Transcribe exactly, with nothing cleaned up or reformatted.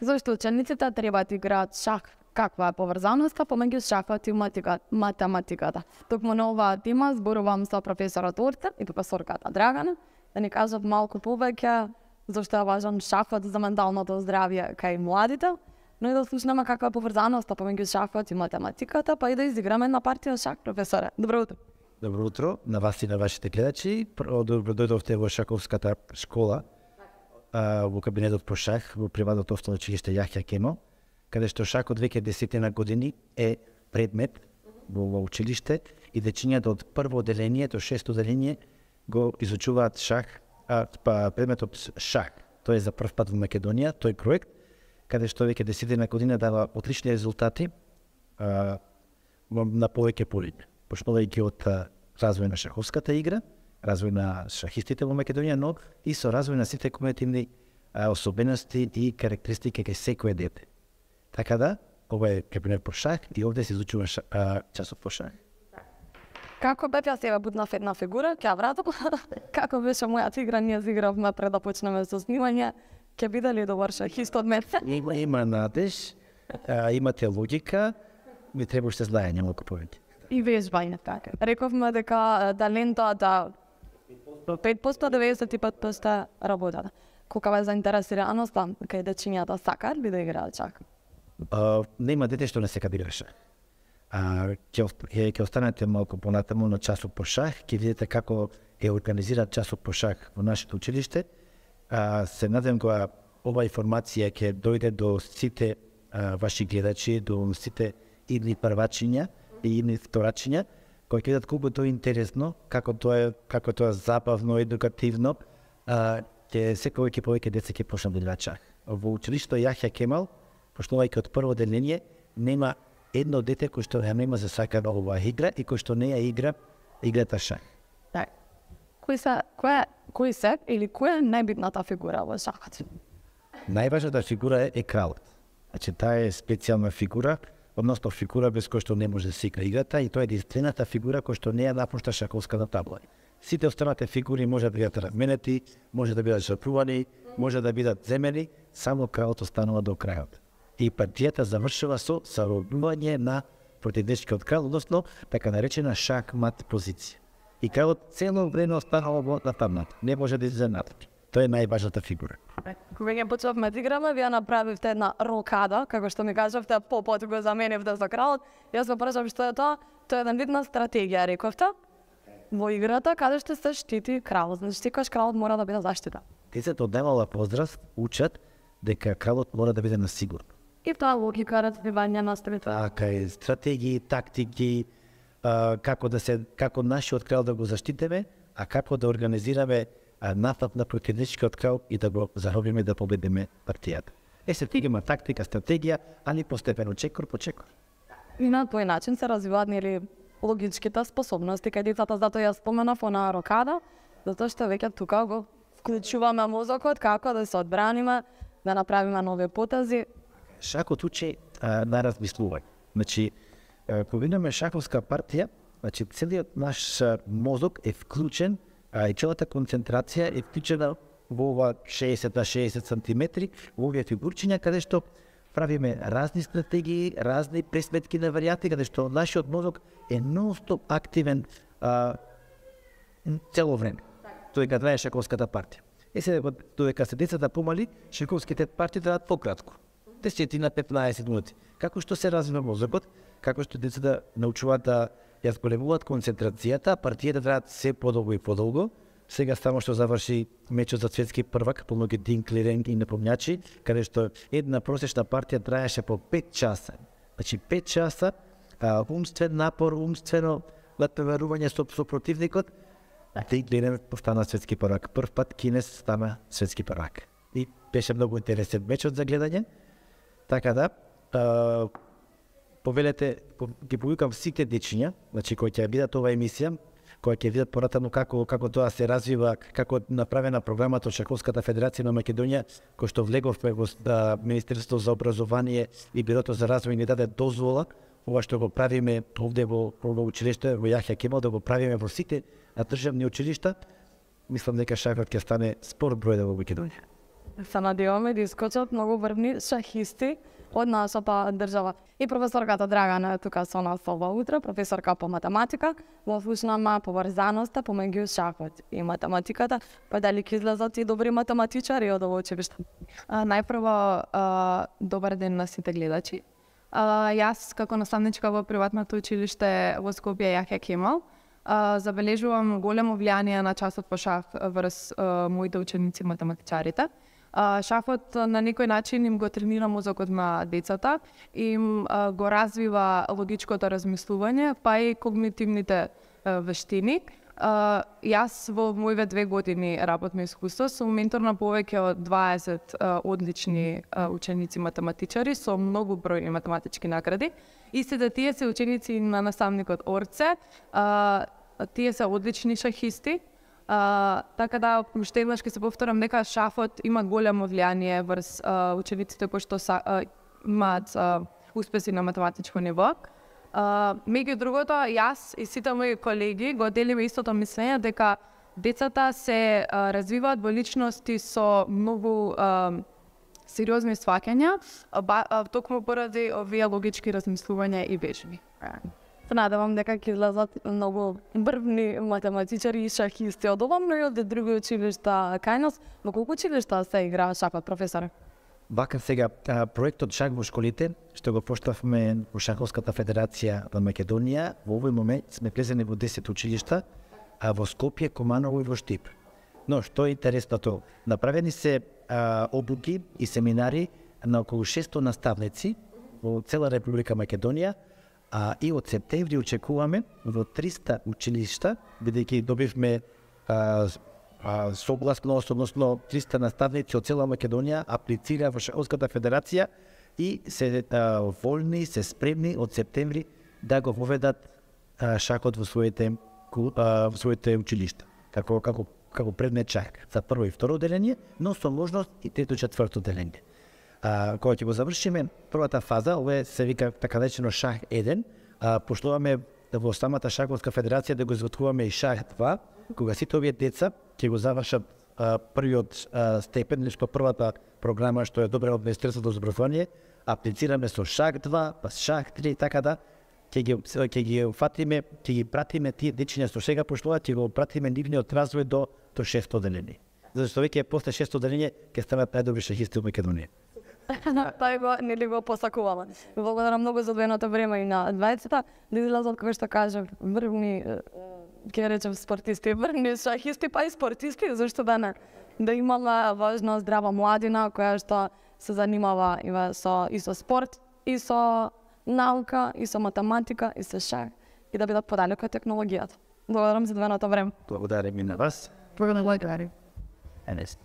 Зошто учениците треба да играат шах? Каква е поврзаноста помеѓу шахот и математиката? Токму на оваа тема зборувам со професорот Орте и професорката Драгана да ни кажат малку повеќе зошто е важен шахот за менталното здравје кај младите, но и да слушнеме каква е поврзаноста помеѓу шахот и математиката, па и да изиграме една партија шах, професоре. Добро утро. Добро утро на вас и на вашите гледачи. Добро дојдовте во шаковската школа, а, во кабинетот по шах, во приватното основно училиште Јахја Кемал, каде што шахот веќе десетина години е предмет во, во училиште и дечињата од прво оделение до шесто оделение го изучуваат шах, а, па предметот шах. Тој е за прв пат во Македонија, тој проект, каде што веќе десетина година дава отлични резултати а, на повеќе полиња. Почнувајќи од развој на шаховската игра, развој на шахистите во Македонија, но и со развој на сите когнитивни особености и карактеристики кај секое дете. Така да, ова е кабинет по шах и овде се изучува ша, а, часот по шах. Како бев јас сега буднав една фигура, ќе ја вратам. Како беше мојата игра, ние зигравме пред да почнеме со снимање. Ќе биде ли добар шахист од мене? Има, има надеж, а, имате логика, ми требаше знаење малку повеќе. И вежбање, така. Рековме дека талентот да пет посто, деветдесет и пет посто работата. Колкава е заинтересираноста кај дечињата сакаат ли да играат шах? Uh, нема дете што не сека да игра шах. Uh, ќе, ќе останете малку понатаму на часот по шах, ќе видите како е организиран часот по шах во нашето училиште. Uh, се надевам кога ова информација ќе дојде до сите uh, ваши гледачи, до сите идни првачиња и идни вторачиња, кои ќе видат колку тоа е интересно, како тоа е, како тоа е забавно, едукативно, uh, ќе секој ќе повеќе деца ќе почнат да играат шах. Во училиштето Јахја Кемал, почнувајќи од прво оделение, нема едно дете кој што ја нема за сакана оваа игра и кој што не ја игра играта шах. Так. Кои се, која, кои се или која е најбитната фигура во шахот? Најважната фигура е, е кралот. Значи, таа е специјална фигура, односно фигура без кој што не може да се игра играта и тоа е единствената фигура кој што не ја напушта шаковската табла. Сите останати фигури може да бидат разменети, може да бидат жртвувани, може да бидат земени, само кралот останува до крајот. И партијата завршува со заробување на противничкиот крал, односно така наречена шахмат позиција. И кралот цело време останува во нападната, не може да излезе напред. Тоа е најважната фигура. Кога ќе почнавме да играме, вие направивте една рокада, како што ми кажавте, попот го заменивте за кралот. Јас го прашав што е тоа, тоа е една видна стратегија, рековте. Во играта каде што се штити кралот, значи секојаш кралот мора да биде заштита. Децата од немала возраст учат дека кралот мора да биде на сигурно. И тоа логика развивање на стратегија. Така е, стратегии, тактики, а, како да се како нашиот крал да го заштитиме, а како да организираме напад на противничкиот крал и да го заробиме да победиме партијата. Е се има тактика, стратегија, али постепено чекор по чекор. И на тој начин се развиваат нели логичките способности кај децата, затоа ја споменав онаа рокада, затоа што веќе тука го вклучуваме мозокот како да се одбраниме, да направиме нови потези. Шахот учи а, на размислување. Значи, а, кога имаме шаховска партија, значи целиот наш а, мозок е вклучен, а и целата концентрација е вклучена во ова шеесет на шеесет сантиметри, во овие фигурчиња, каде што правиме разни стратегии, разни пресметки на варијати, каде што нашиот мозок е нон-стоп активен а, цело време. Тоа кога трае шаковската партија. Е сега, додека се децата помали, шаковските партии траат пократко. десет на петнаесет минути. Како што се развива мозокот, како што децата научуваат да ја зголемуваат концентрацијата, партијата траат се подолго и подолго. Сега само што заврши мечот за светски првак, помногу Динклирен и напомњачи, каде што една просечна партија траеше по пет часа. Значи пет часа а, умствен напор, умствено натоварување со, со противникот. Динклирен постана светски првак. Прв пат Кинес стана светски првак. И беше многу интересен мечот за гледање. Така да, а, повелете, ги повикам сите дечиња, значи кои ќе видат оваа емисија, кои ќе видат понатаму како како тоа се развива, како направена програмата од Шаковската федерација на Македонија, кој што влеговме во Министерството за образование и Бирото за развој ни даде дозвола, ова што го правиме овде во, во училиште во Јахја Кемал, да го правиме во сите државни училишта, мислам дека шахот ќе стане спорт број во Македонија. се надеваме да искочат многу врвни шахисти од нашата држава. И професорката Драгана е тука со нас ова утро, професорка по математика, во слушнама поврзаноста помеѓу шахот и математиката, па дали ќе излезат и добри математичари од ово училиште? Најпрво, а, добар ден на сите гледачи. А, јас како наставничка во приватното училиште во Скопје Јахја Кемал, а, забележувам големо влијание на часот по шах врз а, моите ученици математичарите. А, шахот на некој начин им го тренира мозокот на децата, им а, го развива логичкото размислување, па и когнитивните а, вештини. Uh, јас во моите две години работно искуство сум ментор на повеќе од дваесет uh, одлични uh, ученици математичари со многу бројни математички награди. Истите тие се ученици на наставникот Орце, uh, тие се одлични шахисти. Uh, така да, уште еднаш ќе се повторам дека шахот има големо влијание врз uh, учениците кои што са, uh, имаат uh, успеси на математичко ниво. Uh, меѓу другото, јас и сите мои колеги го делиме истото мислење дека децата се uh, развиваат во личности со многу uh, сериозни сваќања, uh, токму поради овие логички размислувања и вежби. Се надевам дека ќе излезат многу врвни математичари и шахисти од ова, но и од други училишта кај нас. Во колку училишта се играа шахот, професоре? Вака сега, проектот Шах во школите, што го поштавме во Шаховската федерација во Македонија, во овој момент сме влезени во десет училишта, а во Скопје, Команово и во Штип. Но што е интересното, направени се а, обуки и семинари на околу шесто наставници во цела Република Македонија, а и од септември очекуваме во триста училишта, бидејќи добивме а, Uh, согласно, односно триста наставници од цела Македонија аплицира во Шаховската федерација и се uh, волни, се спремни од септември да го воведат uh, шахот во своите uh, во своите училишта. Како како како предмет шах за прво и второ одделение, но со можност и трето и четврто одделение. Uh, кога ќе го завршиме првата фаза, ова се вика така наречено шах еден, uh, пошлуваме во самата Шаховска федерација да го изготвуваме и шах два, кога сите овие деца ќе го завршат а, првиот а, степен, нешто првата програма што е добра од Министерството за образование, аплицираме со шах два, па шах три, така да ќе ги ќе ги уфатиме, ќе ги пратиме тие дечиња што сега пошлуваат, ќе го пратиме нивниот развој до до шесто одделение. Зашто веќе после шесто одделение ќе станат најдобри шахисти во Македонија. Тај го нели го посакувала. Благодарам многу за одвоеното време и на двајцата, да излезат како што кажав врвни, ќе речем спортисти, врвни шахисти, па и спортисти, зашто да не, да имала важна здрава младина која што се занимава има со и со спорт, и со наука, и со математика, и со шах, и да бидат подалеку од технологијата. Благодарам за одвоеното време. Благодарам и на вас. Благодарам. Енес.